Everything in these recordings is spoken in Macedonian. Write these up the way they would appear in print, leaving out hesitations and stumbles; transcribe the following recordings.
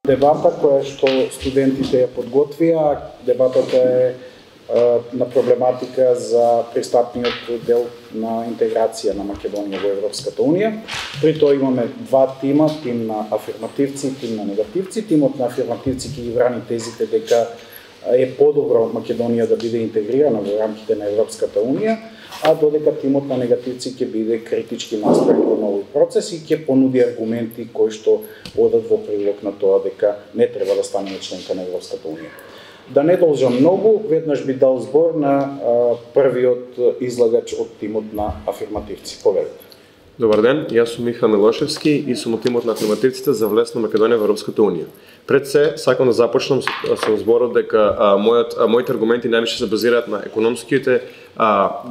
Дебата која што студентите ја подготвија, дебатата е на проблематика за пристапниот дел на интеграција на Македонија во Европската Унија. При тоа имаме два тима, тим на афирмативци и тим на негативци. Тимот на афирмативци ќе ги брани тезите дека е подобро Македонија да биде интегрирана во рамките на Европската Унија, а додека тимот на негативци ќе биде критички настроен кон овој процес и ќе понуди аргументи кои што одат во прилог на тоа дека не треба да станеме членка на Европската Унија. Да не должам многу, веднаш би дал збор на првиот излагач од тимот на афирмативци. Повелете. Добар ден, јас сум Миха Милошевски и сум од тимот на афирмативците за влез на Македонија во Европската Унија. Пред се, сакам да започнам со зборот дека моите аргументи највише се базираат на економските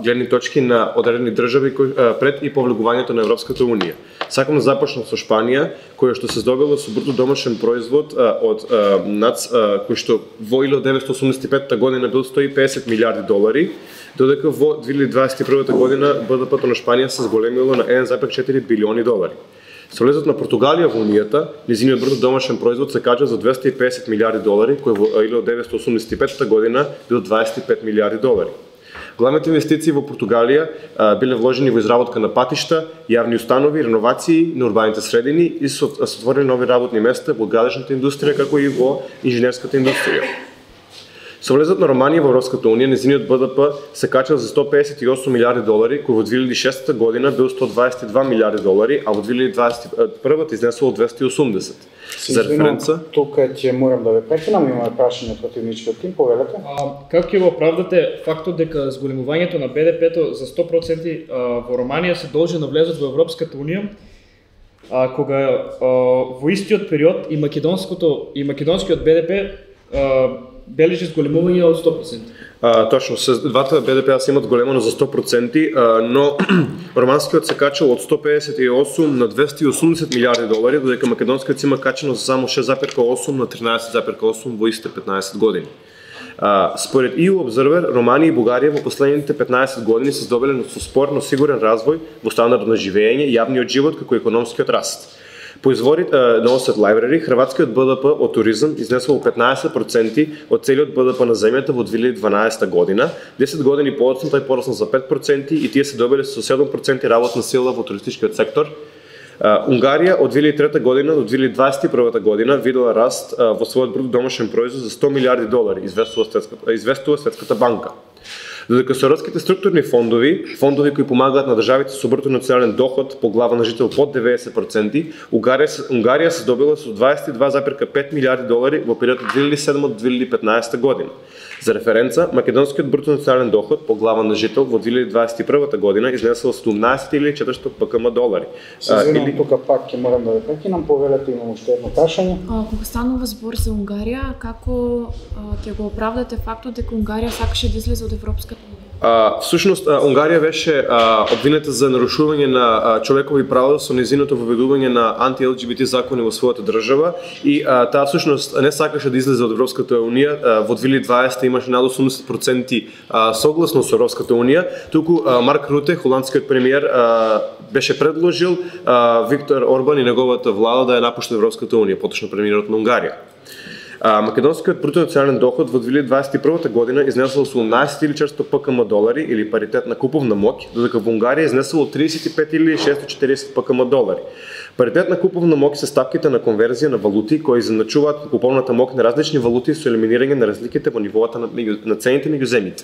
гледни точки на одредени држави пред и по влегувањето на Европската Унија. Сакам да започнам со Шпанија, која што се здобила со бруто домашен производ од НАЦ, кој што во 1985 година бил 150 милиарди долари, додека во 2021 година БДП-то на Шпанија се зголемило на 1,4 билиони долари. Со влезот на Португалија во Унијата, низиниот бруто домашен производ се кача за 250 милиарди долари, кој во 1985 година бил 25 милиарди долари. Главните инвестиции во Португалија биле вложени во изработка на патишта, јавни установи, реновации на урбаните средини и се отворени нови работни места во градежната индустрија како и во инженерската индустрија. Со влезот на Романија во Европската Унија, незиниот БДП се качал за 158 милиарди долари, кој во 2006 година бил 122 милиарди долари, а во 2021 изнесувал 280. За референца, тука ќе морам да ве прекинам, имаме прашање од противничкиот тим, повелете. Како ќе го оправдате фактот дека зголемувањето на БДП-то за 100% во Романија се должи на влезот во Европската Унија, кога во истиот период и македонскиот БДП бележи зголемување од 100%. Точно, двата БДП се имат големано за 100%, но романскиот се качал од 158 на 280 милиарди долари, додека македонскиот се има качено за само 6,8 на 13,8 во истите 15 години. Според EU Observer, Романија и Бугарија во последните 15 години се здобиле со спор, но сигурен развој во стандард на живење, јавниот живот како економскиот раст. По изворите на Offset Library, хрватскиот БДП од туризам изнесувал 15% од целиот БДП на земјата во 2012 година. 10 години подоцна тој порасна за 5% и тие се добиле со 7% работна сила во туристичкиот сектор. Унгарија од 2003 година до 2021 година видела раст во својот бруто домашен производ за 100 милиарди долари, известува Светската банка. Додека со европските структурни фондови кои помагаат на државите со бруто национален доход по глава на жител под 90%, Унгарија се добила со 22,5 милиарди долари во периодот 2007 до 2015 година. За референца, македонскиот бруто национален доход по глава на жител во 2021 година изнесел 17.400 ПКМ долари. Извинувам, тука пак ќе морам да ве прекинам, повелете, имам уште едно прашање. Кога станува збор за Унгарија, како ќе го оправдате фактот дека Унгарија сакаше да излезе од Европската Унија? Всушност, Унгарија беше обвинета за нарушување на човекови права со незиното воведување на анти-ЛГБТ закони во својата држава и таа всушност не сакаше да излезе од Европската Унија. Во 2020 имаше над 80% согласно со Европската Унија, туку Марк Руте, холандскиот премиер, беше предложил Виктор Орбан и неговата влада да ја напушти Европската Унија, поточно премиерот на Унгарија. Македонскиот бруто национален доход во 2021 година изнесувал 17.400 ПКМ долари или паритет на куповна моќ, додека во Унгарија изнесувал 35.640 ПКМ долари. Паритет на куповна моќ се ставките на конверзија на валути кои изначуваат куповната моќ на различни валути со елиминирање на разликите во нивоата на цените меѓу земјите.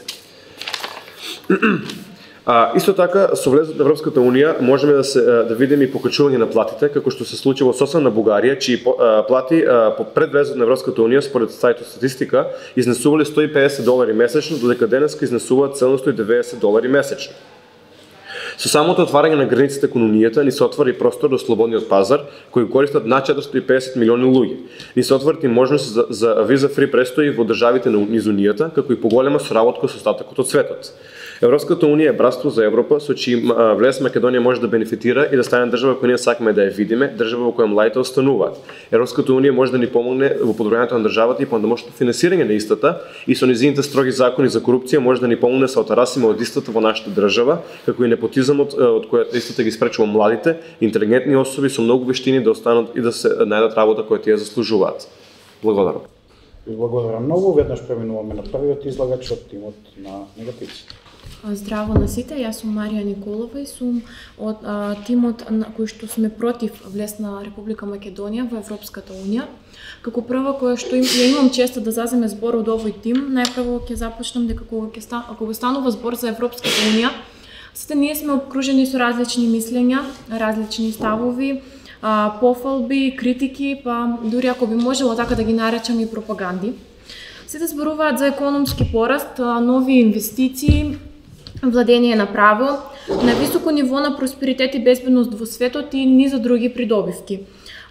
Исто така, со влезот на Европската Унија можеме да видиме и покачување на платите, како што се случи во сосна на Бугарија, чии плати пред влезот на Европската Унија според сајтот статистика изнесувале 150 долари месечно, додека денеска изнесуваат 790 долари месечно. Со самото отварање на границите кон Унијата ни се отвори простор до слободниот пазар, кој користат над 450 милиони луѓе. Ни се отвори можност за виза-фри престои во државите низ Унијата, како и поголема соработка со остатокот од светот. Европската Унија е братство за Европа, со чиј влез Македонија може да бенефитира и да стане држава која ние сакаме да ја видиме, држава во која младите остануваат. Европската Унија може да ни помогне во подобрувањето на државата и по-домашното финансирање на истата и со низините строги закони за корупција може да ни помогне да се отарасиме од истата во нашата држава, како и непотизам популизмот од кој истата ги спречува младите, интелигентни особи со многу вештини да останат и да се најдат работа која тие заслужуваат. Благодарам. Благодарам многу. Веднаш преминуваме на првиот излагач од тимот на негативците. Здраво на сите, јас сум Марија Николова и сум од тимот на кој што сме против влез на Република Македонија во Европската унија. Како прва која што ја имам честа да заземе збор од овој тим, најпрво ќе започнам дека кога станува збор за Европската унија, сите ние сме обкружени со различни мислења, различни ставови, пофалби, критики, па дури ако би можело така да ги наречам и пропаганди. Сите зборуваат за економски пораст, нови инвестиции, владење на право, на високо ниво на просперитет и безбедност во светот и низа други придобивки.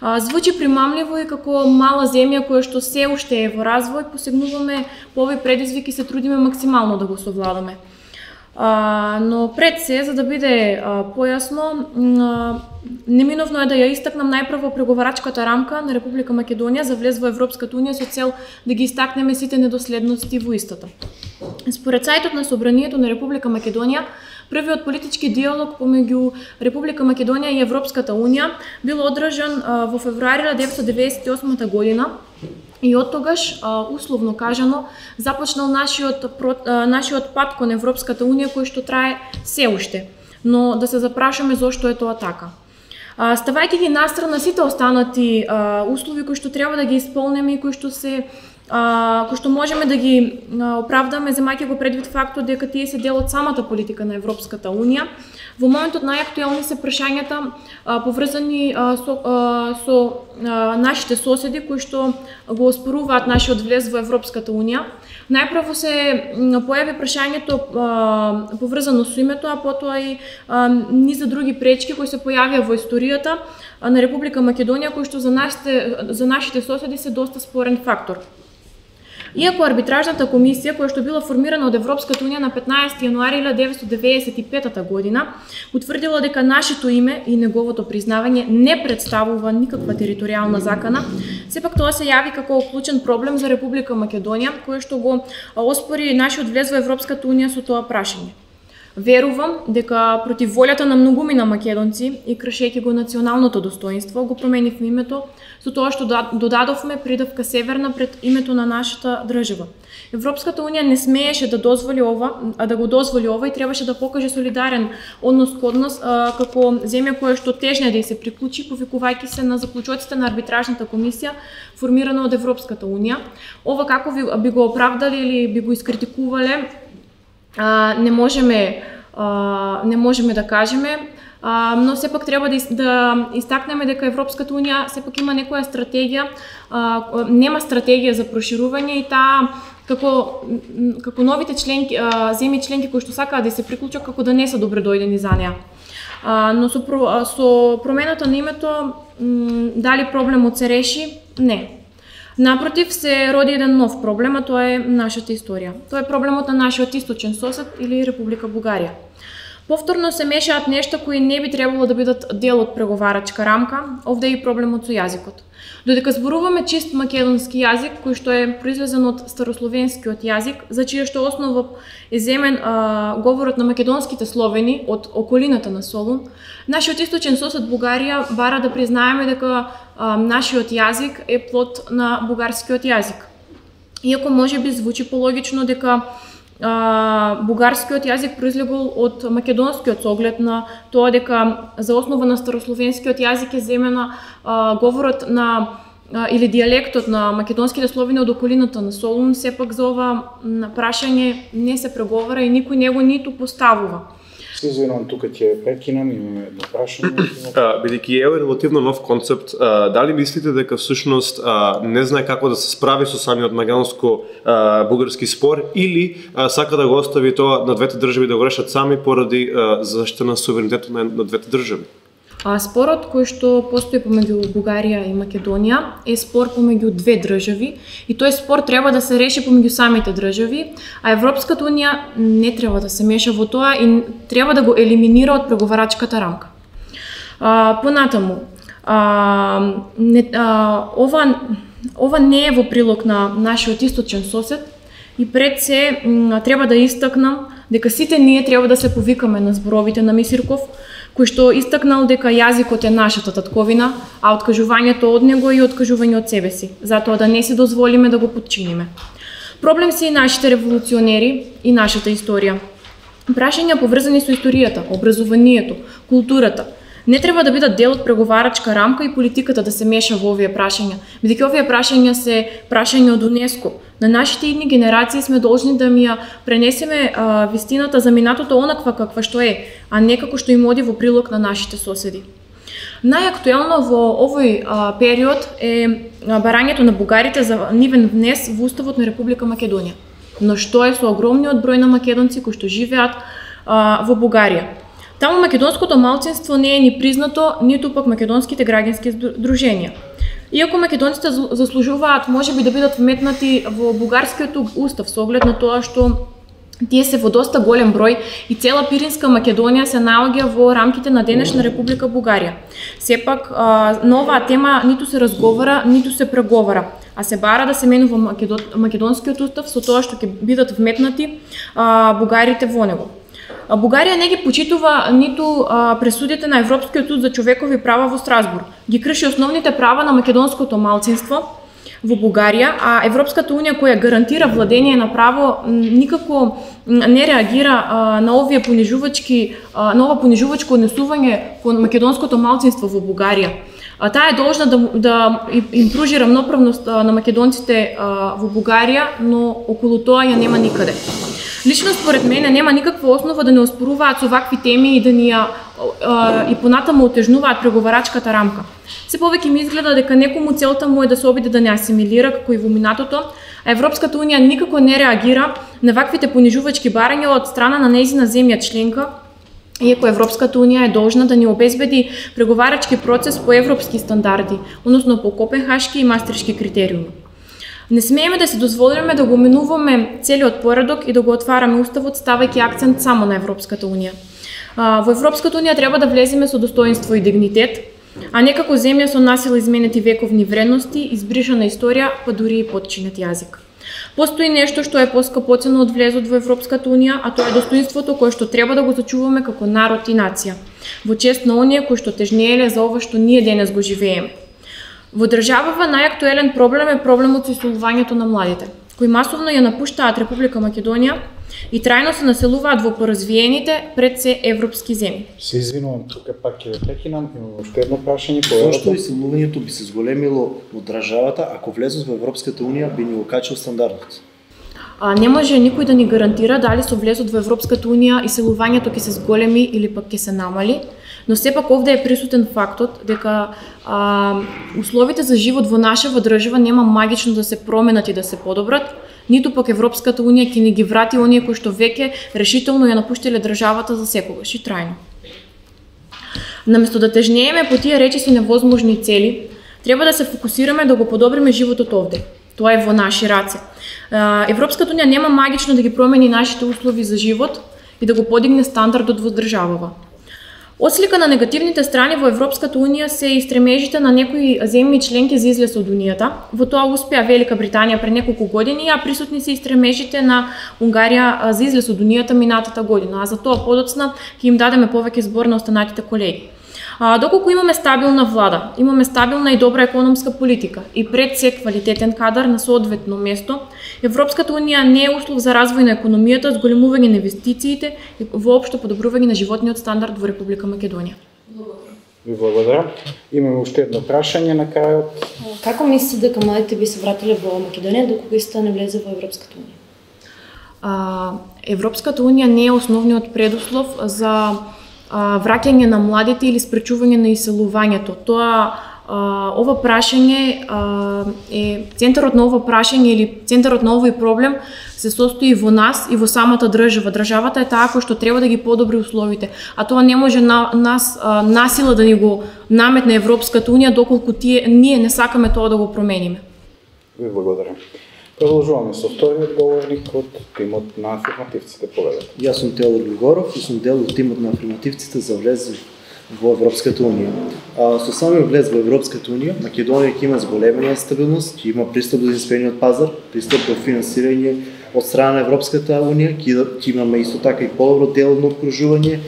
Звучи примамливо и како мала земја која што се уште е во развој, посегнуваме по овој предизвик и се трудиме максимално да го совладаме. Но пред се, за да биде појасно, неминовно е да ја истакнам најпрво преговарачката рамка на Република Македонија за влез во Европската унија со цел да ги истакнеме сите недоследности во истата. Според сајтот на Собранието на Република Македонија, првиот политички диалог помеѓу Република Македонија и Европската унија бил одржан во февруари 1998 година и од тогаш, условно кажано, започнал нашиот пат кон Европската унија кој што трае се уште. Но да се запрашаме зошто е тоа така. Ставајќи ги настрана сите останати услови кои што треба да ги исполнеме и кои што можеме да ги оправдаме, земајќи го предвид фактот дека тие се дел од самата политика на Европската унија. Во моментот најактуелни се прашањата поврзани со нашите соседи кои што го оспоруваат нашиот влез во Европската унија. Најпрво се појави прашањето поврзано со името, а потоа и низа други пречки кои се појавија во историјата на Република Македонија, кои што за нашите соседи се доста спорен фактор. Иако арбитражната комисија, која што била формирана од Европската унија на 15 јануари 1995 година, утврдила дека нашето име и неговото признавање не представува никаква територијална закана, сепак тоа се јави како клучен проблем за Република Македонија, кој што го оспори нашиот влез во Европската унија со тоа прашање. Верувам дека против волјата на многумина македонци и кршејќи го националното достоинство, го променивме името со тоа што додадовме придавка северна пред името на нашата држава. Европската унија не смееше да го дозволи ова и требаше да покаже солидарен однос кон нас како земја која што тежне да се приклучи, повикувајќи се на заклучоците на арбитражната комисија формирана од Европската унија. Ова како би го оправдали или би го искритикувале, не можеме да кажеме, но сепак треба да истакнеме дека Европската унија сепак има некоја стратегија, нема стратегија за проширување и таа како новите земји членки кои што сакаат да се приклучат како да не се добредојдени за неа. Но со промената на името дали проблемот се реши? Не. Напротив, се роди еден нов проблем, а тоа е нашата историја. Тоа е проблемот на нашиот источен сосед или Република Бугарија. Повторно се мешаат нешта кои не би требало да бидат дел од преговарачка рамка, овде е и проблемот со јазикот. Додека зборуваме чист македонски јазик, кој што е произлезен од старословенскиот јазик, за чија што основа е земен говорот на македонските словени од околината на Солун, нашиот источен сосед Бугарија бара да признаеме дека нашиот јазик е плод на бугарскиот јазик. Иако може би звучи пологично дека бугарскиот јазик произлегол од македонскиот со оглед на тоа дека за основа на старословенскиот јазик е земена говорот на или дијалектот на македонските словени од околината на Солун, сепак за ова прашање не се преговара и никој него ниту поставува. Се извинувам, тука ќе прекинам, имаме едно прашање. Бидејќи е релативно нов концепт, дали мислите дека всушност не знае како да се справи со самиот македонско-бугарски спор или сака да го остави тоа на двете држави да го решат сами поради заштита на суверенитетот на двете држави? Спорот кој што постои помеѓу Бугарија и Македонија е спор помеѓу две држави и тој спор треба да се реши помеѓу самите држави, а Европската унија не треба да се меша во тоа и треба да го елиминира од преговарачката рамка. Понатаму, ова не е во прилог на нашиот источен сосед и пред се треба да истакнам дека сите ние треба да се повикаме на зборовите на Мисирков, кој што истакнал дека јазикот е нашата татковина, а откажувањето од него и откажување од себе си, затоа да не си дозволиме да го подчиниме. Проблем се и нашите револуционери и нашата историја. Прашања поврзани со историјата, образованието, културата, не треба да бидат дел од преговарачка рамка и политиката да се меша во овие прашања, бидејќи овие прашања се прашања од УНЕСКО. На нашите идни генерации сме должни да ми ја пренесеме вистината за минатото онаква каква што е, а не како што им оди во прилог на нашите соседи. Најактуелно во овој период е барањето на бугарите за нивен внес во Уставот на Република Македонија. Но што е со огромниот број на македонци кои што живеат во Бугарија? Таму македонското малцинство не е ни признато, ниту пак македонските граѓански здруженија. Иако македонците заслужуваат можеби да бидат вметнати во бугарскиот устав со оглед на тоа што тие се во доста голем број и цела Пиринска Македонија се наоѓа во рамките на денешна Република Бугарија. Сепак на оваа тема ниту се разговара, ниту се преговара, а се бара да се менува македонскиот устав со тоа што ќе бидат вметнати бугарите во него. Бугарија не ги почитува ниту пресудите на Европскиот суд за човекови права во Страсбург. Ги крши основните права на македонското малцинство во Бугарија, а Европската унија која гарантира владење на право никако не реагира на овие на ова понижувачко однесување кон македонското малцинство во Бугарија. Таа е должна да им пружи рамноправност на македонците во Бугарија, но околу тоа ја нема никаде. Лично според мене нема никаква основа да не оспоруваат со вакви теми и да ни и понатаму отежнуваат преговарачката рамка. Се повеќе ми изгледа дека некому целта му е да се обиде да не асимилира како и во минатото, а Европската унија никако не реагира на ваквите понижувачки барања од страна на нејзина земја членка, иако Европската унија е должна да ни обезбеди преговарачки процес по европски стандарди, односно по Копенхашки и Мастрихтски критериуми. Не смееме да се дозволиме да го менуваме целиот поредок и да го отвараме уставот ставајќи акцент само на Европската унија. Во Европската унија треба да влеземе со достоинство и дигнитет, а не како земја со насила изменети вековни вредности, избришана историја, па дури и потчинет јазик. Постои нешто што е поскапоцено од влезот во Европската унија, а тоа е достоинството кое што треба да го зачуваме како народ и нација, во чест на оние кои што тежнееле за ова што ние денес го живееме. Во државава најактуелен проблем е проблемот со исолувањето на младите, кои масовно ја напуштаат Република Македонија и трајно се населуваат во поразвиените пред се европски земји. Се извинувам, тука пак ќе прекинам, имам уште едно прашање. Зошто исолувањето би се зголемило од државата ако влезот во Европската унија би ни го качил стандардот? Не може никој да ни гарантира дали со влезот во Европската унија иселувањето ќе се зголеми или пак ќе се намали, но сепак овде е присутен фактот дека условите за живот во нашава држава нема магично да се променат и да се подобрат, ниту пак Европската унија ќе ни ги врати оние кои што веќе решително ја напуштиле државата за секогаш и трајно. Наместо да тежнееме по тие речиси невозможни цели, треба да се фокусираме да го подобриме животот овде. Тоа е во наши раце. Европската унија нема магично да ги промени нашите услови за живот и да го подигне стандардот во државава. Отслика на негативните страни во Европската унија се и стремежите на некои земји членки за излез од унијата. Во тоа успеа Велика Британија пред неколку години, а присутни се и стремежите на Унгарија за излез од унијата минатата година, а за тоа подоцна ќе им дадеме повеќе збор на останатите колеги. Доколку имаме стабилна влада, имаме стабилна и добра економска политика и пред се квалитетен кадар на соодветно место, Европската унија не е услов за развој на економијата, зголемување на инвестициите и воопшто подобрување на животниот стандард во Република Македонија. Ви благодарам. Имаме уште едно прашање на крајот. Како мислите дека младите би се вратиле во Македонија докога исто не влезе во Европската унија? Европската унија не е основниот предуслов за враќање на младите или спречување на иселувањето. Ова прашање е центарот на ова прашање или центарот на овој проблем се состои во нас и во самата држава. Државата е таа која што треба да ги подобри условите, а тоа не може насила да ни го наметне Европската унија доколку ние не сакаме тоа да го промениме. Ви благодарам. Продолжуваме со вториот говорник од тимот на афирмативците. Поведете. Јас сум Теодор Григоров и сум дел од тимот на афирмативците за влез во Европската унија. Со самиот влез во Европската унија, Македонија ќе има зголемена стабилност, ќе има пристап до единствениот пазар, пристап до финансирање од страна на Европската унија, ќе имаме исто така и подобро деловно обкружување,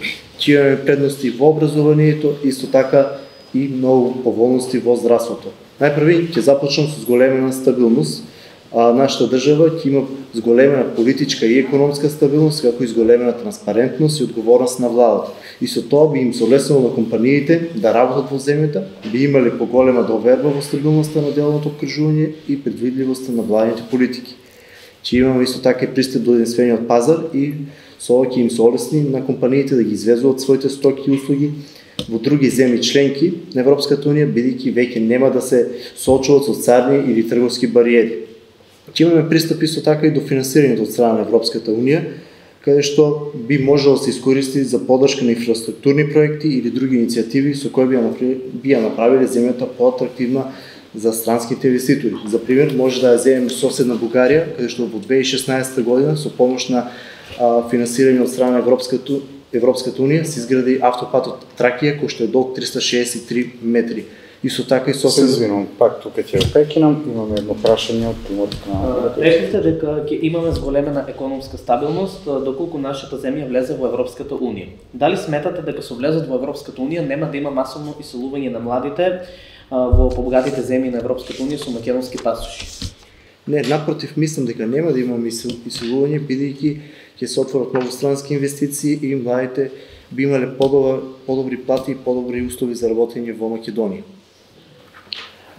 ќе имаме предности во образованието, исто така и многу поволности во здравството. Најпрви ќе започнам со зголемена стабилност. Нашата држава ќе има зголемена политичка и економска стабилност, како и зголемена транспарентност и одговорност на владата. И со тоа би им солеснало на компаниите да работат во земјата, би имале поголема доверба во стабилноста на деловното обкружување и предвидливоста на владните политики. Ќе имаме исто така и пристап до единствениот пазар и со ова ќе им се олесни на компаниите да ги извезуваат своите стоки и услуги во други земји членки на Европската унија, бидејќи веќе нема да се соочуваат со царни или трговски бариери. Ќе имаме пристап исто така и до финансирањето од страна на Европската унија, каде што би можело да се искористи за поддршка на инфраструктурни проекти или други иницијативи со кои би ја направиле земјата поатрактивна за странските инвеститори. За пример, може да ја земеме соседна Бугарија, каде што во 2016 година со помош на финансирање од страна на Европската унија се изгради автопатот Тракија, кој што е долг 363 метри. Исто така и Се извинувам, пак тука ќе прекинам, имаме едно прашање од тимот на... Речете дека ќе имаме зголемена економска стабилност доколку нашата земја влезе во Европската унија. Дали сметате дека со влезот во Европската унија нема да има масовно иселување на младите во побогатите земји на Европската унија со македонски пасоши? Не, напротив, мислам дека нема да имаме иселување, бидејќи ќе се отворат многу странски инвестиции и младите би имале подобри плати и подобри услови за работење во Македонија.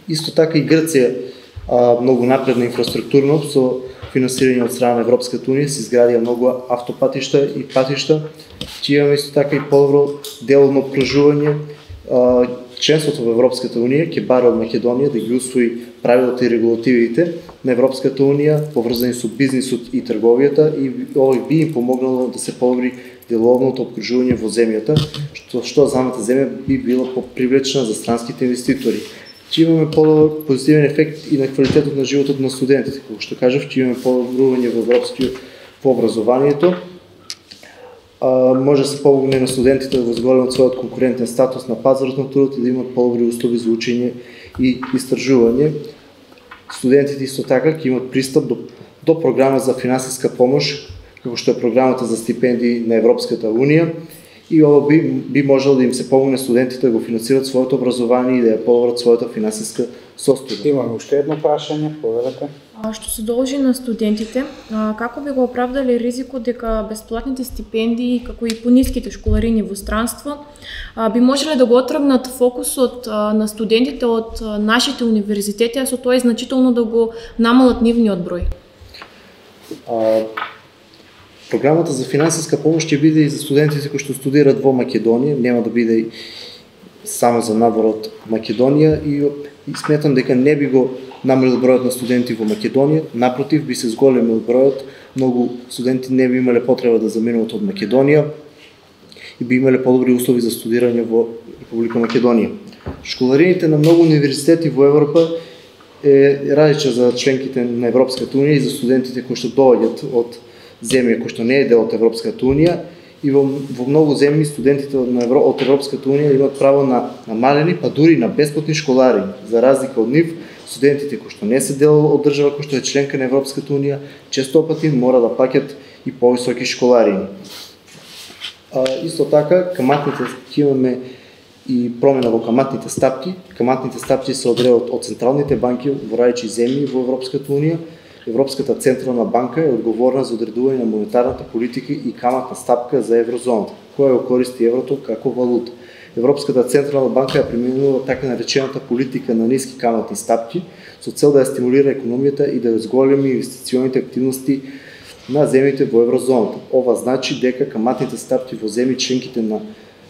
Исто така и Грција многу напредна инфраструктурно со финансирање од страна на Европската унија се изградија многу автопатишта и патишта. Ќе имаме исто така и подобро деловно обкружување. Членството во Европската унија ќе бара од Македонија да ги усвои правилата и регулативите на Европската унија поврзани со бизнисот и трговијата и ова би им помогнало да се подобри деловното обкружување во земјата, што самата земја би била попривлечна за странските инвеститори. Ќе имаме подобар позитивен ефект и на квалитетот на животот на студентите, како што кажав, ќе имаме подобрување во образованието. Може да се помогне на студентите да возголемат својот конкурентен статус на пазарот на трудот и да имат подобри услови за учење и истражување. Студентите исто така ќе имат пристап до програма за финансиска помош, како што е програмата за стипендии на Европската унија, и ова би можело да им се помогне студентите да го финансират своето образование и да ја подобрат својата финансиска состојба. Имаме уште едно прашање, повелете. Што се должи на студентите, како би го оправдали ризикот дека бесплатните стипендии, како и пониските школарини во странство, би можеле да го отргнат фокусот на студентите од нашите универзитети, а со тоа и значително да го намалат нивниот број? Програмата за финансиска помош ќе биде и за студентите кои што студираат во Македонија, нема да биде само за надвор од Македонија и сметам дека не би го намалил бројот на студенти во Македонија, напротив би се зголемил бројот, многу студенти не би имале потреба да заминуваат од Македонија и би имале подобри услови за студирање во Република Македонија. Школарините на многу универзитети во Европа е различна за членките на Европската унија и за студентите кои што доаѓаат од земја кој што не е дел од Европската унија, и во многу земји студентите од Европската унија имаат право на намалени, па дури на бесплатни школари. За разлика од нив, студентите кои што не се дел од држава кој што е членка на Европската унија, често пати мора да плаќат и повисоки школарини. Исто така, каматните ќе имаме и промена во каматните стапки. Каматните стапки се одредуваат од централните банки во различни земји во Европската унија. Европската централна банка е одговорна за одредување на монетарната политика и каматна стапка за еврозоната, која го користи еврото како валута. Европската централна банка ја применува така наречената политика на ниски каматни стапки со цел да ја стимулира економијата и да ја зголеми инвестиционите активности на земјите во еврозоната. Ова значи дека каматните стапки во земји членките на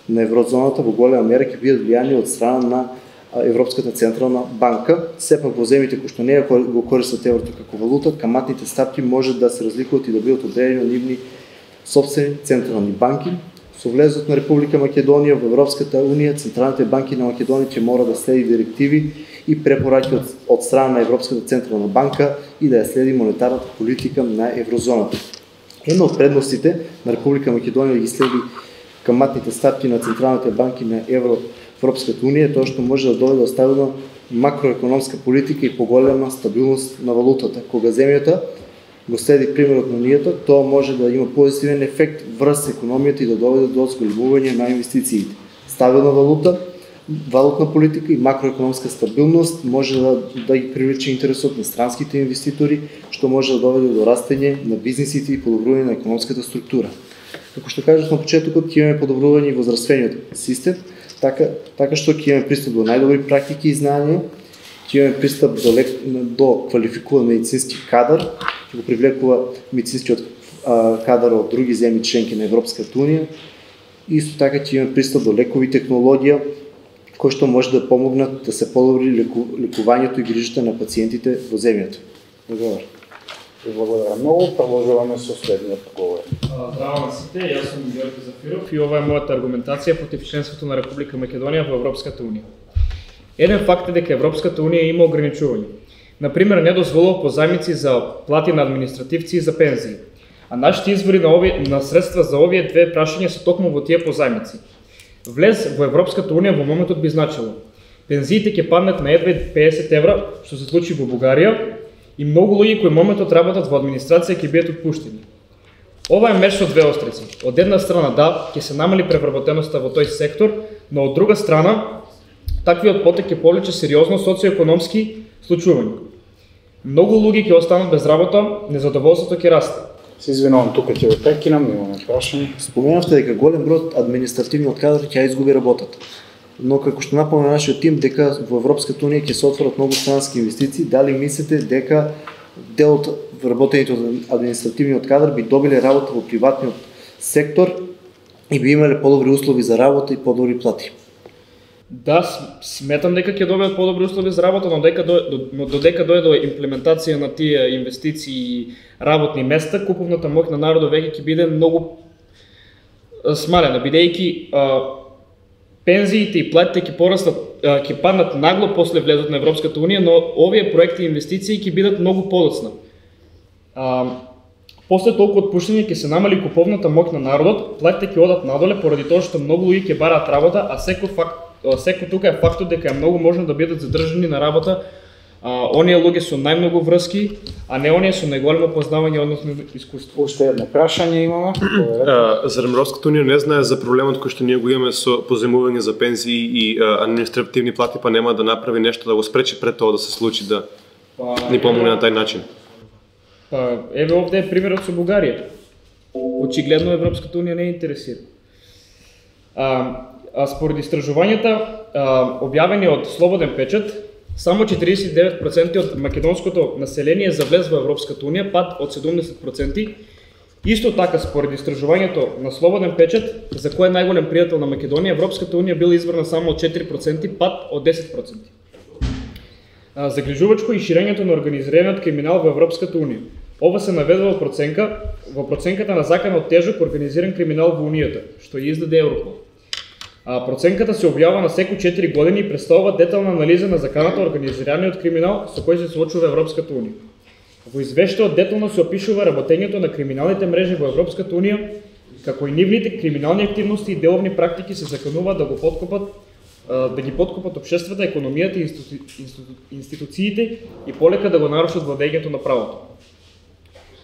еврозоната во голема мера ќе бидат влијани од страна на Европската централна банка. Сепак во земјите кои што не го користат еврото како валута, каматните стапки може да се разликуваат и да бидат одредени од нивни сопствени централни банки. Со влезот на Република Македонија во Европската унија, централните банки на Македонија ќе мора да следи директиви и препораки од страна на Европската централна банка и да ја следи монетарната политика на еврозоната. Една од предностите на Република Македонија да ги следи каматните стапки на централните банки на Европската унија е тоа што може да доведе до стабилна макроекономска политика и поголема стабилност на валутата, кога земјата го следи примерот на унијата, тоа може да има позитивен ефект врз економијата и да доведе до зголемување на инвестициите. Стабилна валута, валутна политика и макроекономска стабилност може да ги привлече интересот на странските инвеститори, што може да доведе до растење на бизнисите и подобрување на економската структура. Како што кажав на почетокот, ќе имаме подобрување во здравствениот систем, така што ќе имаме пристап до најдобри практики и знаења, ќе имаме пристап до квалификуван медицински кадар, ќе го привлекува медицинскиот кадар од други земји членки на Европската унија. Исто така ќе имаме пристап до лекови технологија, кои што може да помогнат да се подобри лекувањето и грижата на пациентите во земјата. Благодарам. Благодарам многу. Продолжуваме со следниот говор. Здраво на сите, јас сум Георги Зафиров и ова е мојата аргументација против членството на Република Македонија во Европската унија. Еден факт е дека Европската унија има ограничувања. Например, не дозволува позајмици за плати на административци и за пензии. А нашите извори на средства за овие две прашања се токму во тие позајмици. Влез во Европската унија во моментот би значило пензиите ќе паднат на едва 50 евра, што се случи во Бугарија, и многу луѓе кои моментот работат во администрација ќе бидат отпуштени. Ова е меч со две острици. Од една страна да, ќе се намали превработеноста во тој сектор, но од друга страна таквиот потек ќе повлече сериозно социоекономски случувања. Многу луѓе ќе останат без работа, незадоволството ќе расте. Се извинувам, тука ќе ве прекинам, имаме прашање. Споменавте дека голем број од административниот кадар ќе изгуби работата. Но како што напомна нашиот тим дека во Европската унија ќе се отворат многу странски инвестиции, дали мислите дека дел од вработените од административниот кадар би добиле работа во приватниот сектор и би имале подобри услови за работа и подобри плати? Да, сметам дека ќе добиат подобри услови за работа, но додека дојде до имплементација на тие инвестиции и работни места, куповната моќ на народот веќе ќе биде многу смалена, бидејќи пензиите и платите ќе порастат, ќе паднат нагло после влезот на Европската унија, но овие проекти и инвестиции ќе бидат многу подоцна. После толку отпуштање ќе се намали куповната моќ на народот, платите ќе одат надоле поради тоа што многу луѓе ќе бараат работа, а секој тука е фактот дека е многу можно да бидат задржани на работа оние луѓе со најмногу врски, а не оние со најголемо познавање односно искуство. Уште едно прашање имаме. Зарем Европската унија не знае за проблемот кој што ние го имаме со позајмување за пензии и административни плати, па нема да направи нешто да го спречи пред тоа да се случи, да ни помогне на тај начин? Па еве овде е примерот со Бугарија. Очигледно Европската унија не е интересира. Според истражувањата објавени од Слободен печат, само 49% од македонското население завлез во Европската унија, пад од 70%. Исто така, според истражувањето на Слободен печат, за кој е најголем пријател на Македонија, Европската унија била избрана само од 4%, пад од 10%. Загрижувачко и ширењето на организираниот криминал во Европската унија. Ова се наведува во проценката на заканот тежок организиран криминал во унијата, што ја издаде Европол. Проценката се објавува на секој 4 години и представува детална анализа на заканата организираниот криминал со кој се соочува Европската унија. Во извештајот детално се опишува работењето на криминалните мрежи во Европската унија, како и нивните криминални активности и деловни практики се закануваат да ги подкопат општеството, економијата и институциите и полека да го нарушат владењето на правото.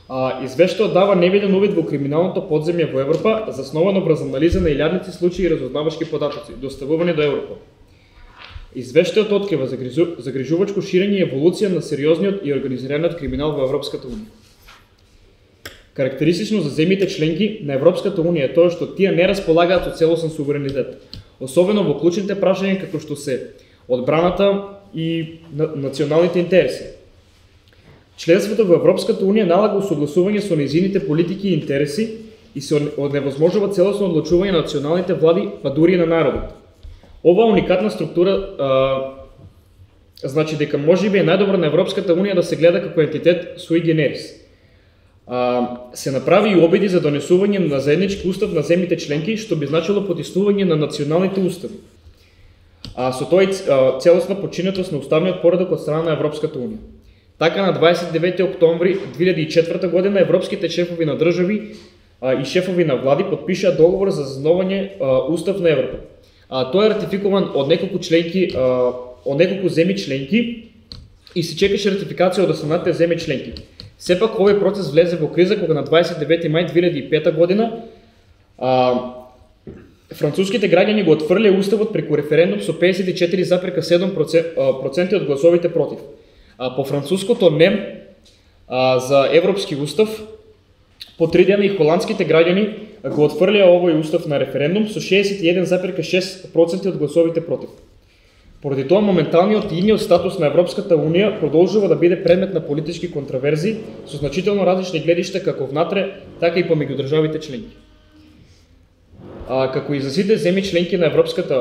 Извештајот дава невиден увид во криминалното подземје во Европа, засновано врз анализа на илјадници случаи и разузнавачки податоци, доставувани до Европол. Извештајот открива загрижувачко ширење и еволуција на сериозниот и организираниот криминал во Европската унија. Карактеристично за земјите членки на Европската унија е тоа што тие не располагаат со целосен суверенитет, особено во клучните прашања како што се одбраната и националните интереси. Членството во Европската унија налага усогласување со нејзините политики и интереси и се оневозможува целосно одлучување на националните влади, па дури и на народот. Оваа уникатна структура значи дека можеби е најдобро на Европската унија да се гледа како ентитет sui generis. Се направи и обиди за донесување на заеднички устав на земјите членки, што би значило потиснување на националните устави. Со тоа целосна подчинетост на уставниот поредок од страна на Европската унија. Така на 29 октомври 2004 година европските шефови на држави и шефови на влади подпишаа договор за засновање устав на Европа. Тој е ратификуван од неколку земји членки и се чекаше ратификација од останатите земји членки. Сепак овој процес влезе во криза кога на 29 мај 2005 година француските граѓани го отфрлија уставот преку референдум со 54,7% од гласовите против. По француското НЕМ за Европски устав, по 3 дена и холандските граѓани го отфрлија овој устав на референдум со 61,6% од гласовите против. Поради тоа моменталниот и идниот статус на Европската Унија продолжува да биде предмет на политички контроверзии со значително различни гледишта како внатре, така и помеѓу државите членки. Како и за сите земји членки на Европската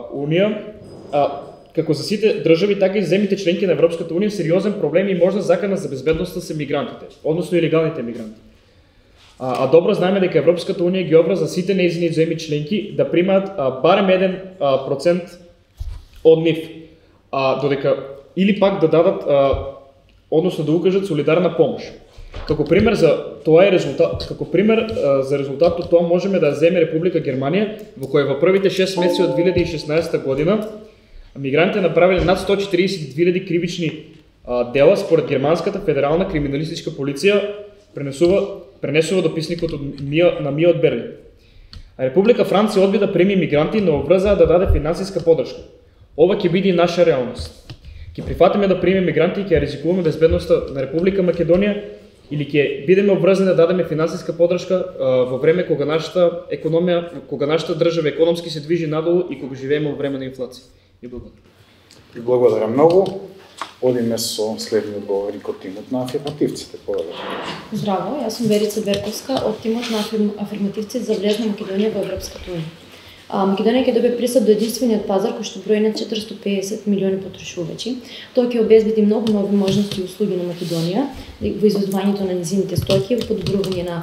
Унија, како за сите држави, така и земјите членки на Европската Унија, сериозен проблем и можна закана за безбедноста се мигрантите, односно илегалните мигранти. Добро знаеме дека Европската Унија ги обврза сите нејзини земји членки да примаат барем 1% од нив, додека или пак да дадат, односно да укажат солидарна помош. Како пример за резултатот тоа можеме да земе Република Германија, во која во првите 6 месеци од 2016 година мигрантите направиле над 142.000 кривични дела според германската федерална криминалистичка полиција, пренесува дописникот на МИ од Берлин. Република Франција одби да прими мигранти, но обврзаа да даде финансиска подршка. Ова ќе биде и наша реалност. Ќе прифатиме да примеме мигранти и ќе ризикуваме безбедноста на Република Македонија или ќе бидеме обврзани да дадеме финансиска подршка во време кога нашата држава економски се движи надолу и кога живееме во време на инфлација. И благодарам. И благодарам многу. Одиме со следниот говорник од тимот на афирмативците. Здраво, јас сум Верица Берковска од тимот на афирмативците за влез на Македонија во Европската Унија. Македонија ќе добие пристап до единствениот пазар кој што брои на 450 милиони потрошувачи. Тоа ќе обезбеди многу нови можности и услуги на Македонија во извозвањето на низините стоки, во подобрување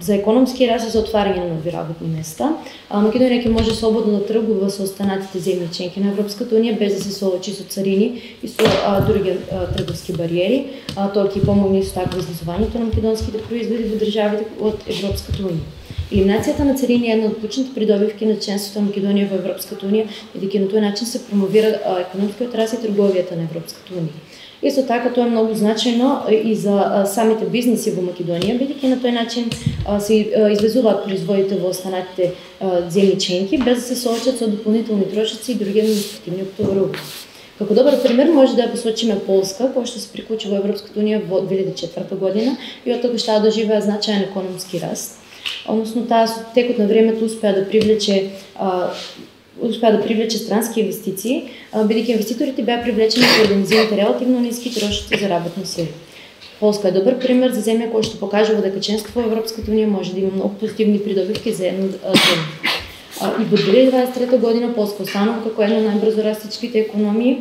за економски раст и за отварање на нови работни места. Македонија ќе може слободно да тргува со останатите земји членки на Европската Унија без да се соочи со царини и со други трговски бариери. Тоа ќе помогне исто така во изнесувањето на македонските производи во државите од Европската Унија. Елиминацијата на царини е една од клучните придобивки на членството на Македонија во Европската Унија, бидејќи на тој начин се промовира економскиот раст и трговијата на Европската Унија. Исто така тоа е многу значајно и за самите бизниси во Македонија, бидејќи на тој начин се извезуваат производите во останатите земји членки без да се соочат со дополнителни трошоци и други административни оптоварувања. Како добар пример може да ја посочиме Полска, која што се приклучи во Европската Унија во 2004 година и од тогаш таа доживеа значаен економски раст. Односно таа со текот на времето успеа да привлече странски инвестиции, бидејќи инвеститорите беа привлечени поради низините релативно ниски трошоци за работна сила. Полска е добар пример за земја која што покажува дека членство во Европската Унија може да има многу позитивни придобивки за една земја. И во 2023 година Полска останува како една од најбрзо растечките економии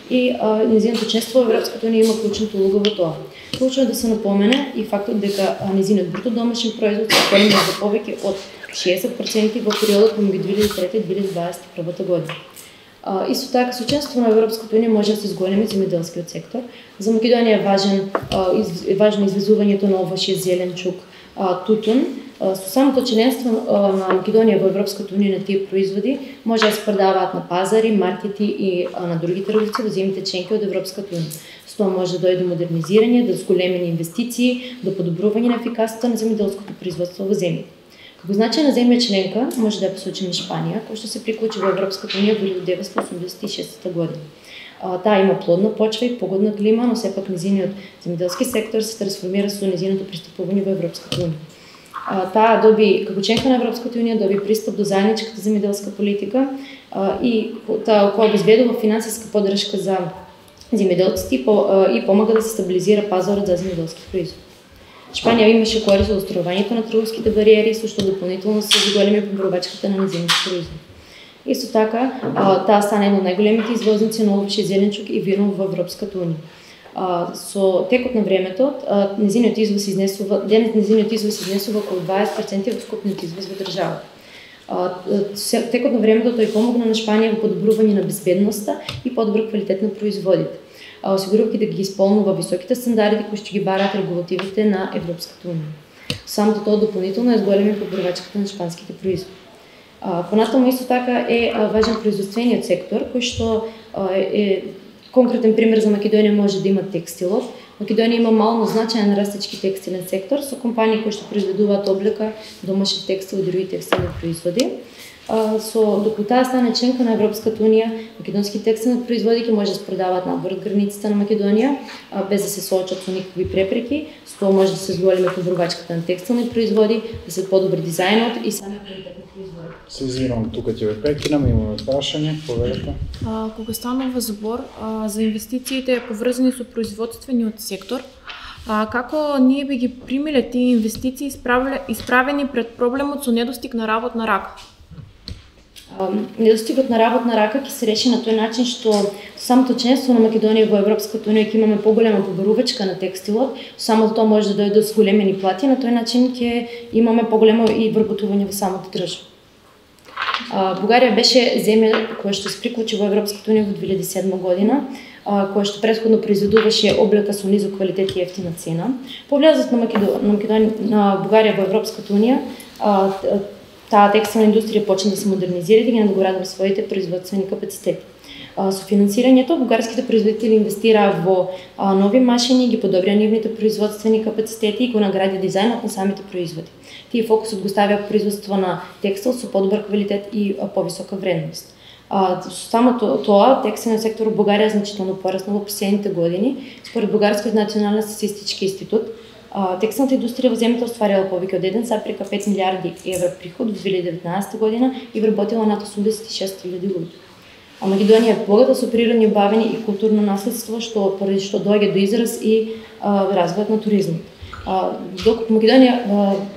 и низиното членство во Европската Унија има клучната улога во тоа. Клучно е да се напомене и фактот дека низиниот бруто домашен производ се поголеми за повеќе од 60% во периодот помеѓу 2003 и 2021 година. Исто така, со членството на Европската Унија може да се зголеми земјоделскиот сектор. За Македонија е важно извезувањето на овошје, зеленчук, тутун. Со самото членство на Македонија во Европската Унија на тие производи може да се продаваат на пазари, маркети и на други трговци во земјите членки од Европската Унија. Со тоа може да дојде до модернизирање, до зголемени инвестиции, до подобрување на ефикасноста на земјоделското производство во земјите. Како значајна земја членка може да ја посочиме Шпанија, која што се приклучи во Европската Унија во 1986 година. Таа има плодна почва и погодна клима, но сепак низиниот земјоделски сектор се трансформира со низиното пристапување во Европската Унија. Таа доби, како членка на Европската Унија, доби пристап до заедничката земјоделска политика и таа која обезбедува финансиска поддршка за земјоделците и помага да се стабилизира пазарот за земјоделски производи. Шпанија имаше корист од островањето на трговските бариери, со што дополнително се зголеми поборувачката на низините производи. Исто така, таа стана една од најголемите извозници на овошје, зеленчук и вино во Европската Унија. Со текот на времето, низиниот извоз изнесува околу 20% од вкупниот извоз во државата. Текот на времето тој помогна на Шпанија во подобрување на безбедноста и подобар квалитет на производите, осигурувајќи да ги исполнува високите стандарди кои што ги бараат регулативите на Европската Унија. Самото тоа дополнително зголеми поборувачката на шпанските производи. Понатаму исто така е важен производствениот сектор кој што Конкретен пример за Македонија може да има текстилот. Македонија има мално значаен растечки текстилен сектор со компании кои што произведуваат облека, домашен текстил и други текстилни производи. Докато таа стане членка на Европската унија, македонски текстилни производи ќе може да се продаваат надвор од границите на Македонија, без да се соочат со никакви препреки. Со тоа може да се зголеми подобрувачката на текстилни производи, да се подобри дизајнот и самиот квалитет на производот. Се извинувам, тука ќе ве прекинам, имаме прашање, повелете. Кога станува збор за инвестициите поврзани со производствениот сектор, како ние би ги примиле тие инвестиции исправени пред проблемот со недостиг на работна рака? Недостигот на работна рака ќе се реши на тој начин што самото членство на Македонија во Европската унија ќе имаме поголема побарувачка на текстилот, само тоа може да дојде до зголемени плати, на тој начин ќе имаме поголемо и вработување во самата држава. Бугарија беше земја која што се приклучи во Европската унија во 2007 година, која што претходно произведуваше облека со низок квалитет и ефтина цена. По влезот на Бугарија во Европската унија, таа текстилна индустрија почна да се модернизира и да ги надоградува своите производствени капацитети. Со финансирањето бугарските производители инвестираа во нови машини, ги подобрија нивните производствени капацитети и го награди дизајнот на самите производи. Тие фокусот го ставија производство на текстил со подобар квалитет и повисока вредност. Само тоа, текстилниот сектор во Бугарија значително пораснал во последните години. Според Бугарскиот национален статистички институт, текстилната индустрија во земјата остварила повеќе од 1,5 милиарди евро приход во 2019 година и вработила над 86.000 луѓе. Македонија е богата со природни убавини и културно наследство, поради што доаѓа до израз и развојот на туризмот. Докато Македонија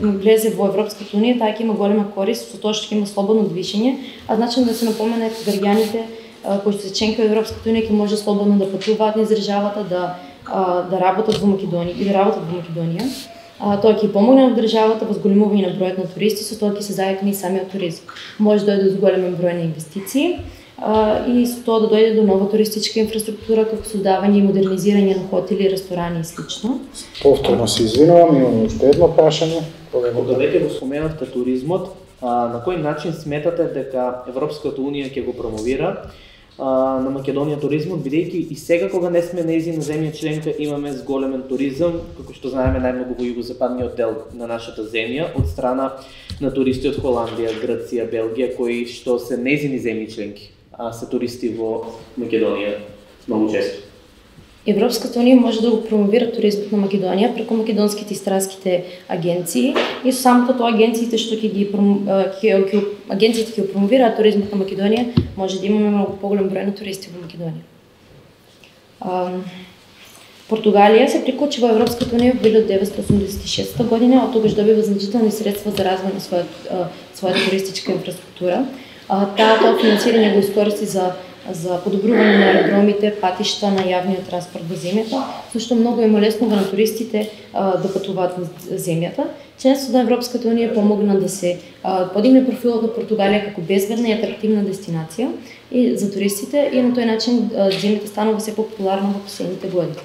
влезе во Европската унија, таа ќе има голема корист со тоа што ќе има слободно движење, значено да се напомене граѓаните кои се членки во Европската унија ќе може слободно да патуваат низ државата, да работат во Македонија. Тоа ќе помогне на државата во зголемување на бројот на туристи, со тоа ќе се зајакне и самиот туризам. Може да дојде до зголемен број на инвестиции и со тоа да дојде до нова туристичка инфраструктура, како создавање и модернизирање на хотели, ресторани и слично. Повторно се извинувам, имам уште едно прашање. Кога веќе го споменавте туризмот, на кој начин сметате дека Европската унија ќе го промовира на Македонија туризмот, бидејќи и сега кога не сме нејзина земја членка имаме зголемен туризам, како што знаеме најмногу во југозападниот дел на нашата земја од страна на туристи од Холандија, Грција, Белгија, кои што се нејзини земји членки, а се туристи во Македонија многу често. Европската унија може да го промовира туризмот на Македонија преку македонските и странските агенции и со самото тоа агенциите што ќе го промовираат туризмот на Македонија, може да имаме многу поголем број на туристи во Македонија. Португалија се приклучи во Европската унија во 1986 година, од тогаш добива значителни средства за развој на својата туристичка инфраструктура. Тоа финансирање го искористи за подобрување на аеродромите, патишта на јавниот транспорт во земјата, зашто многу е молеснува на туристите да патуваат во земјата. Членството на Европската унија помогна да се подигне профилот на Португалија како безбедна и атрактивна дестинација и за туристите и на тој начин земјата станува се популарна во последните години.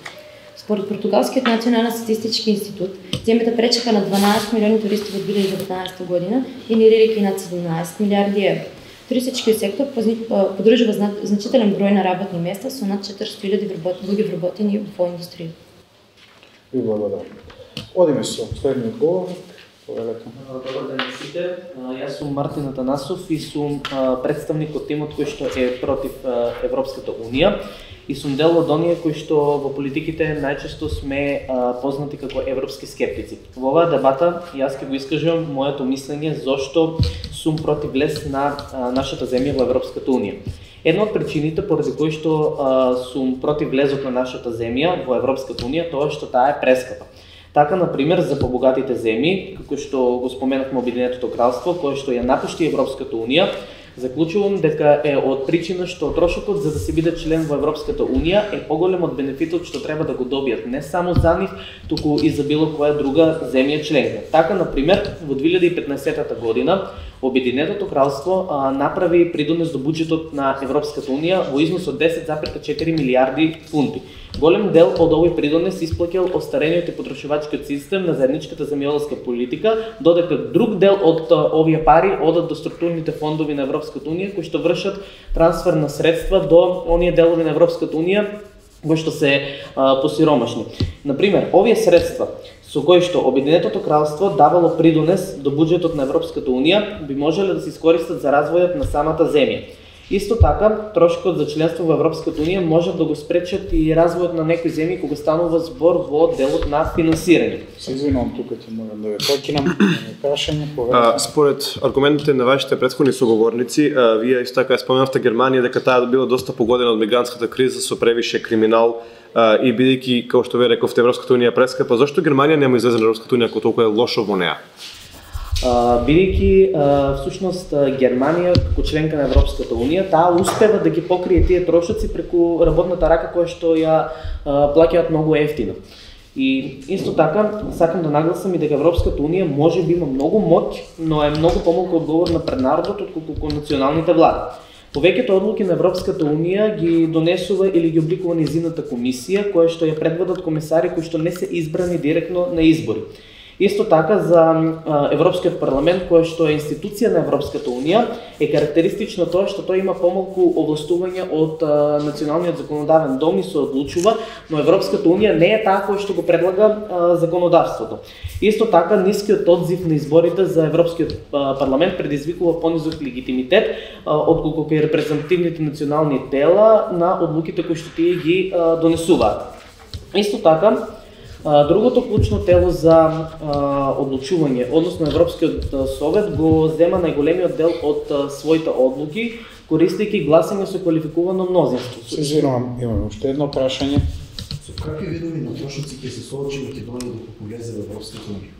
Според Португалскиот национален статистички институт, земјата пречека на 12 милиони туристи во 2019 година, генерирајќи над 17 милиарди евро. Туристичкиот сектор подржува значителен број на работни места со над 400.000 луѓе вработени во индустријата. Ви благодарам. Одиме со следниот говорник. Добар ден сите. Јас сум Мартин Атанасов и сум представник од тимот кој што е против Европската унија и сум дел од оние кои што во политиките најчесто сме познати како европски скептици. Во оваа дебата јас ќе го искажам моето мислење зошто сум против влез на нашата земја во Европската унија. Една од причините поради кои што сум против влезот на нашата земја во Европската унија тоа што таа е прескапа. Така, например, за побогатите земји, како што го споменавме Обединетото кралство, кое што ја напушти Европската унија, заклучувам дека е од причина што трошокот за да се биде член во Европската унија е поголем од бенефитот што треба да го добијат не само за нив, туку и за било која друга земја членка. Така, например, во 2015 година Обединетото кралство направи придонес до буџетот на Европската унија во износ од 10,4 милиарди фунти, Голем дел од овој придонес исплаќал остарениот и потрошувачкиот систем на заедничката земјоделска политика, додека друг дел од овие пари одат до структурните фондови на Европската унија кои што вршат трансфер на средства до оние делови на Европската унија кои што се посиромашни. Например, овие средства со кои што Обединетото кралство давало придонес до буџетот на Европската унија би можеле да се искористат за развојот на самата земја. Исто така, трошокот за членство во Европската унија може да го спречат и развојот на некои земји кога станува збор во делот на финансирање. Се извинувам, тука ќе морам да ве прекинам. Прашање, според аргументите на вашите претходни соговорници, вие исто така споменавте Германија дека таа била доста погодена од мигрантската криза со превише криминал и бидејќи, како што ве рековте, Европската унија прескапа, зошто Германија нема излезе на Европската унија ако толку е лошо во неа? Бидејќи всушност Германија како членка на Европската унија, таа успева да ги покрие тие трошоци преку работната рака која што ја плаќаат многу ефтино. И исто така сакам да нагласам и дека Европската унија може би има многу моќ, но е многу помалку одговорна пред народот отколку националните влади. Повеќето одлуки на Европската унија ги донесува или ги обликува низината комисија, која што ја предводат комесари кои што не се избрани директно на избори. Исто така за Европскиот парламент, кој што е институција на Европската унија, е карактеристично тоа што тој има помалку овластување од националниот законодавен дом и се одлучува, но Европската унија не е таа која што го предлага законодавството. Исто така нискиот одзив на изборите за Европскиот парламент предизвикува понизок легитимитет отколку кај репрезентативните национални тела на одлуките кои што тие ги донесуваат. Исто така другото клучно тело за одлучување, односно Европскиот совет, го зема најголемиот дел од своите одлуки, користејќи гласање со квалификувано мнозинство. Се извинувам, имаме уште едно прашање. Со какви видови на трошоци ќе се соочи Македонија доколку влезе во Европската унија?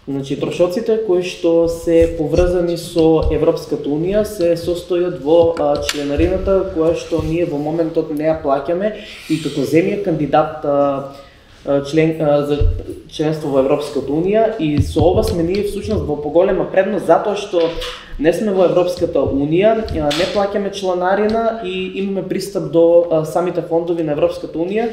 Значи, трошоците кои што се поврзани со Европската унија се состојат во членарината која што ние во моментот не ја плаќаме и како земја кандидат за членство во Европската унија, и со ова сме ние всушност во поголема предност затоа што не сме во Европската унија, не плаќаме чланарина и имаме пристап до самите фондови на Европската унија.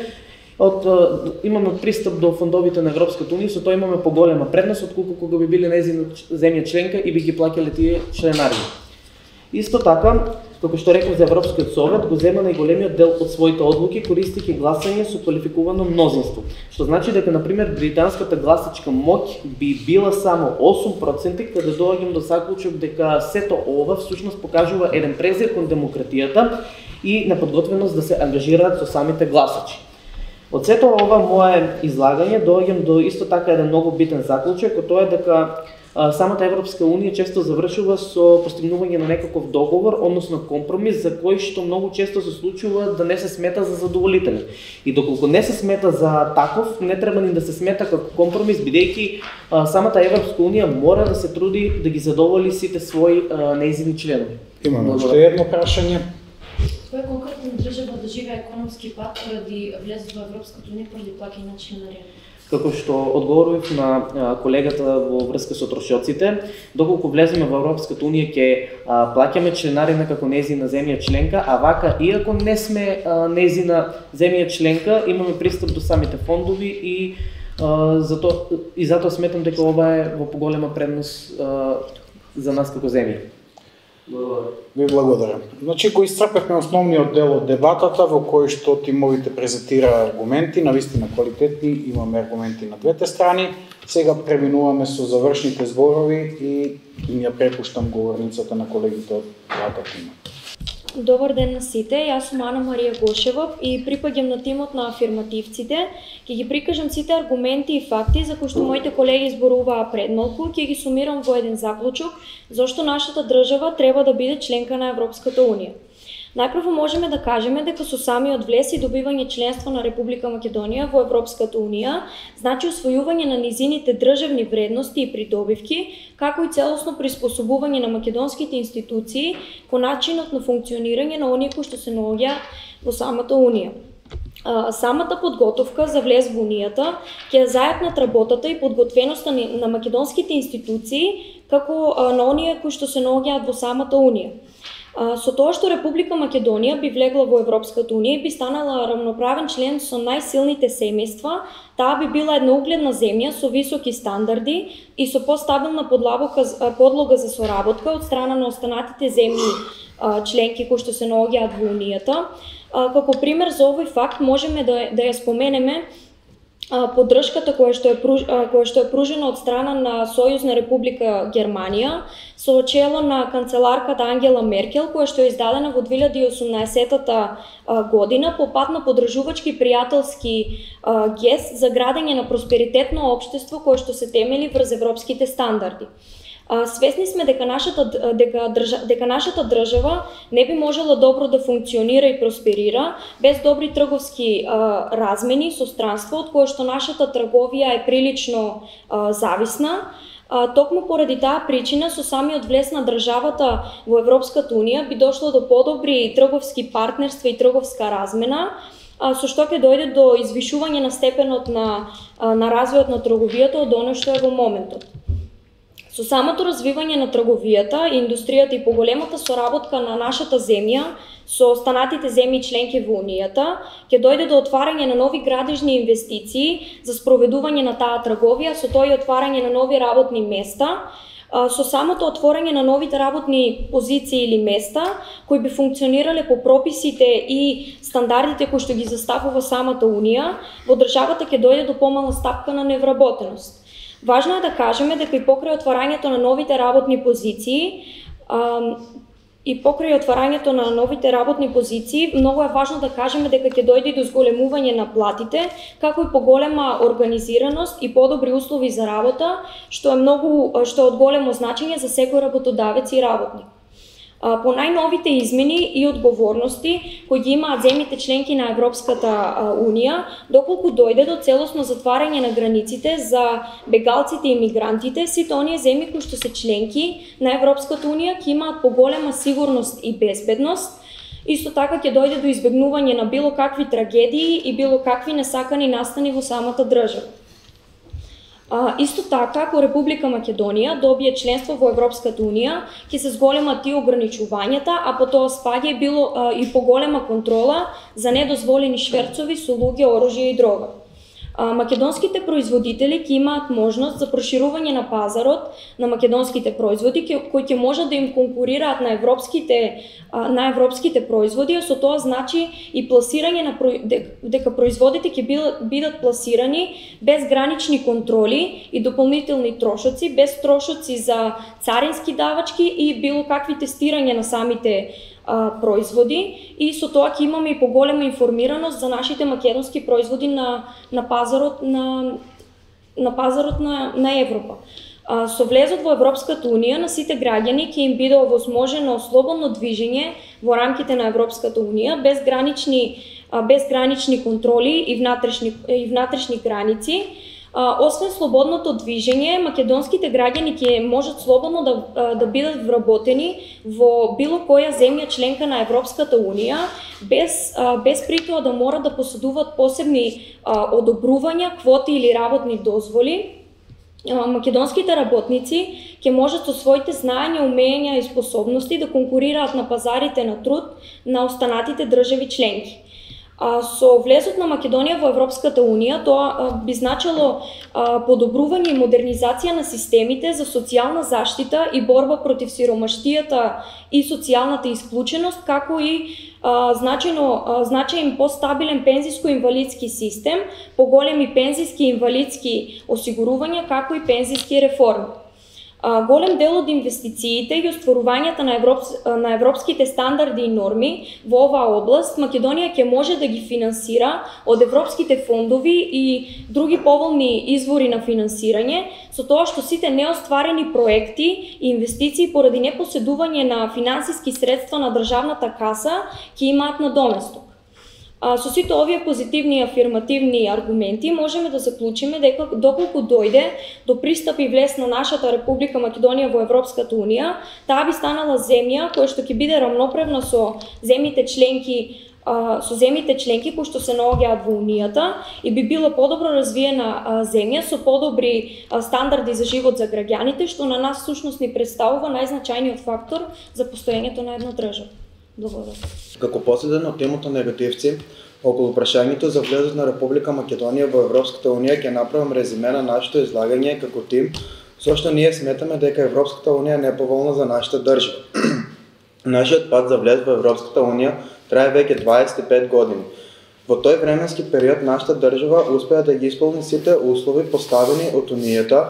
Имаме пристап до фондовите на Европската унија, со тоа имаме поголема предност отколку кога би биле нејзина земја членка и би ги плаќале тие членарини. Исто така, како што реков за Европскиот совет, го зема најголемиот дел од своите одлуки користејќи гласање со квалификувано мнозинство. Што значи дека, например, британската гласачка моќ би била само 8%, каде доаѓам до заклучок дека сето ова всушност покажува еден презир кон демократијата и неподготвеност да се ангажираат со самите гласачи. Од сето ова мое излагање доаѓам до исто така еден многу битен заклучок, кој тоа е дека самата Европска унија често завршува со постигнување на некаков договор, односно компромис, за кој што многу често се случува да не се смета за задоволителен. И доколку не се смета за таков, не треба ни да се смета како компромис, бидејќи самата Европска унија мора да се труди да ги задоволи сите своји нејзини членови. Имаме уште едно прашање. Која конкретна држава доживеа економски пат поради влезот во Европската унија поради плаќање на членарина? Како што одговорив на колегата во врска со трошоците, доколку влеземе во Европската унија ќе плаќаме членарина како нејзина земја членка, а вака иако не сме нејзина земја членка, имаме пристап до самите фондови и затоа сметам дека ова е во поголема предност за нас како земја. Ви благодарам. Значи, го исцрпевме основниот дел од дебатата во кој што тимовите презентира аргументи, навистина квалитетни, имаме аргументи на двете страни. Сега преминуваме со завршните зборови и ја препуштам говорницата на колегите од двата тима. Добар ден на сите, јас сум Ана Марија Гошева и припаѓам на тимот на афирмативците. Ќе ги прикажам сите аргументи и факти за кои што моите колеги зборуваа пред малку, ќе ги сумирам во еден заклучок зошто нашата држава треба да биде членка на Европската унија. Најпрво можеме да кажеме дека со самиот влез и добивање членство на Република Македонија во Европската унија значи усвојување на низините државни вредности и придобивки, како и целосно приспособување на македонските институции кон начинот на функционирање на оние кои што се наоѓа во самата унија. Самата подготовка за влез во унијата ќе заеднат работата и подготвеноста на македонските институции како на оние кои што се наоѓаат во самата унија. Со тоа што Република Македонија би влегла во Европската унија и би станала рамноправен член со најсилните семејства, таа би била една угледна земја со високи стандарди и со постабилна подлога за соработка од страна на останатите земји членки кои што се наоѓаат во Унијата. Како пример за овој факт можеме да ја споменеме поддршката која што е пружена од страна на Сојузна Република Германија со чело на канцеларката Ангела Меркел, која што е издадена во 2018 година по пат на поддржувачки пријателски гест за градење на просперитетно општество кое што се темели врз европските стандарди. Свесни сме дека нашата држава не би можела добро да функционира и просперира без добри трговски размени со странство, од кое што нашата трговија е прилично зависна. Токму поради таа причина со самиот влез на државата во Европската унија би дошло до подобри трговски партнерства и трговска размена, со што ќе дојде до извишување на степенот на развојот на трговијата од оно што е во моментот. Со самото развивање на трговијата, индустријата и поголемата соработка на нашата земја со останатите земји членки во Унијата, ќе дојде до отварање на нови градежни инвестиции за спроведување на таа трговија, со тоа и отварање на нови работни места. Со самото отворање на новите работни позиции или места, кои би функционирале по прописите и стандардите кои што ги заставува самата Унија, во државата ќе дојде до помала стапка на невработеност. Важно е да кажеме дека и покрај отварањето на новите работни позиции, многу е важно да кажеме дека ќе дојде до зголемување на платите, како и поголема организираност и подобри услови за работа, што е од големо значење за секој работодавец и работник. По најновите измени и одговорности кои ги имаат земјите членки на Европската унија, доколку дојде до целосно затварање на границите за бегалците и мигрантите, сите оние земји кои што се членки на Европската унија ќе имаат поголема сигурност и безбедност. Исто така ќе дојде до избегнување на било какви трагедии и било какви несакани настани во самата држава. Исто така, ако Република Македонија добие членство во Европската унија, ќе се зголемат и ограничувањата, а по тоа спаѓа и поголема контрола за недозволени шверцови со луѓе, оружје и дрога. Македонските производители ќе имаат можност за проширување на пазарот на македонските производи кои ќе можат да им конкурираат на европските производи, а со тоа значи и пласирање дека производите ќе бидат пласирани без гранични контроли и дополнителни трошоци, без трошоци за царински давачки и било какви тестирање на самите производи, и со тоа ќе имаме и поголема информираност за нашите македонски производи на пазарот на Европа. Со влезот во Европската унија на сите граѓани ќе им биде овозможено слободно движење во рамките на Европската унија без гранични контроли и внатрешни граници. Освен слободното движење, македонските граѓани ќе можат слободно да бидат вработени во било која земја членка на Европската унија, без при тоа да морат да поседуваат посебни одобрувања, квоти или работни дозволи. Македонските работници ќе можат со своите знаења, умења и способности да конкурираат на пазарите на труд на останатите држави членки. Со влезот на Македонија во Европската унија, тоа би значило подобрување и модернизација на системите за социјална заштита и борба против сиромаштијата и социјалната исклученост, како и значаен постабилен пензиско-инвалидски систем, поголеми пензиски и инвалидски осигурувања, како и пензиски реформи. Голем дел од инвестициите и остварувањата на европските стандарди и норми во оваа област Македонија ќе може да ги финансира од европските фондови и други поволни извори на финансирање, со тоа што сите неостварени проекти и инвестиции поради непоседување на финансиски средства на државната каса ќе имаат надоместок. Со сите овие позитивни и афирмативни аргументи можеме да заклучиме дека доколку дојде до пристап и влез на нашата Република Македонија во Европската унија, таа би станала земја која што ќе биде рамноправна со земјите членки со земјите членки кои што се наоѓаат во Унијата и би било подобро развиена земја со подобри стандарди за живот за граѓаните, што на нас всушност ни представува најзначајниот фактор за постоењето на една држава. Благодарам. Како последен од темата негативци, околу прашањето за влезот на Република Македонија во Европската Унија ќе направам резиме на нашето излагање како тим, зашто ние сметаме дека Европската Унија не е поволна за нашата држава. Нашиот пат за влез во Европската Унија трае веќе 25 години. Во тој временски период нашата држава успеа да ги исполни сите услови поставени од Унијата,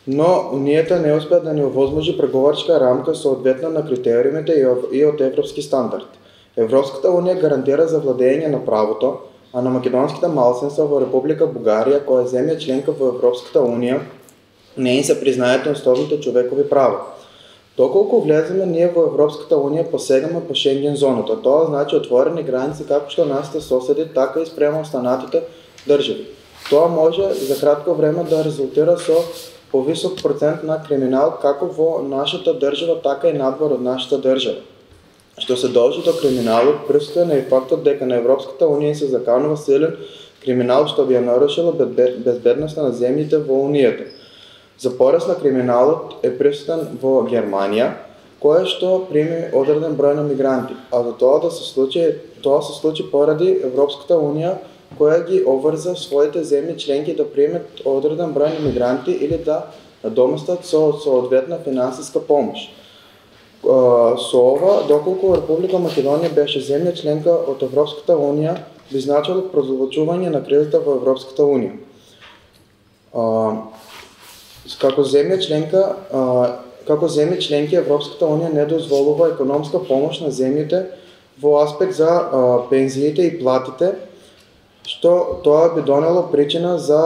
но Унијата не успеа да ни овозможи преговарачка рамка соодветна на критериумите и од европски стандард. Европската Унија гарантира за владење на правото, а на македонските малцинства во Република Бугарија, која е земја членка во Европската Унија, не им се признајат основните човекови права. Доколку влеземе ние во Европската Унија, посегаме по Шенген зоната. Тоа значи отворени граници како што нашите соседи, така и спрема останатите држави. Тоа може за кратко време да резултира со повисок процент на криминал како во нашата држава, така и надвор од нашата држава. Што се должи до криминалот, присутен е и фактот дека на Европската Унија се заканува силен криминал што би ја нарушило безбедноста на земјите во Унијата. За пораст на криминалот е присутен во Германија, која што прими одреден број на мигранти, а за тоа се случи поради Европската Унија, која ги обврза своите земји членки да примат одреден број на мигранти или да надоместат со соодветна финансиска помош. Со ова, доколку Република Македонија беше земја членка од Европската Унија, би значило прозвучување на кризата во Европската Унија. Како земја членки Европската Унија не дозволува економска помош на земјите во аспект за пензиите и платите, што тоа би донело причина за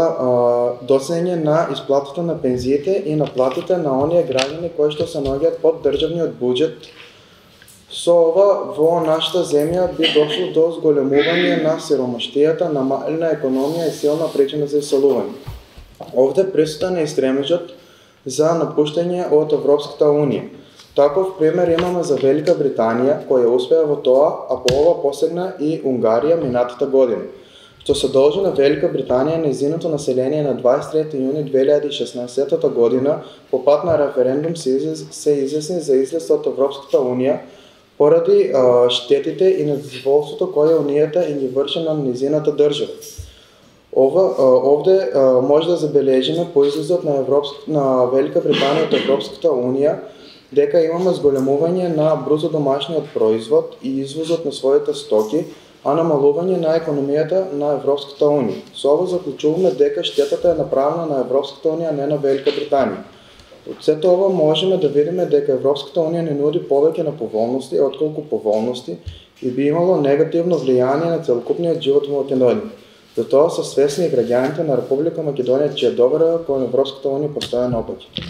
досење на исплатата на пензиите и на платите на оние граѓани кои што се наоѓаат под државниот буџет. Со ова во нашата земја би дошло до зголемување на сиромаштијата, намалена економија и силна причина за иселување. Овде присутен е и стремежот за напуштање од Европската Унија. Таков пример имаме за Велика Британија, која успеа во тоа, а по ова посегна и Унгарија минатата година, што се должи на Велика Британија нејзиното население на 23 јуни 2016 година по пат на референдум се изјасни за излез од Европската Унија поради штетите и недозволството која Унијата ги врши на нејзината држава. Овде може да забележиме по излезот на Велика Британија од Европската Унија дека имаме зголемување на брузо домашниот производ и извозот на своите стоки, а намалување на економијата на Европската Унија. Со ова заклучуваме дека штетата е направена на Европската Унија, а не на Велика Британија. Од сето ова можеме да видиме дека Европската Унија не нуди повеќе на поволности, отколку поволности и би имало негативно влијание на целокупниот живот во Македонија. Затоа се свесни и граѓаните на Република Македонија, чија доверба кон Европската Унија постојано опаѓа.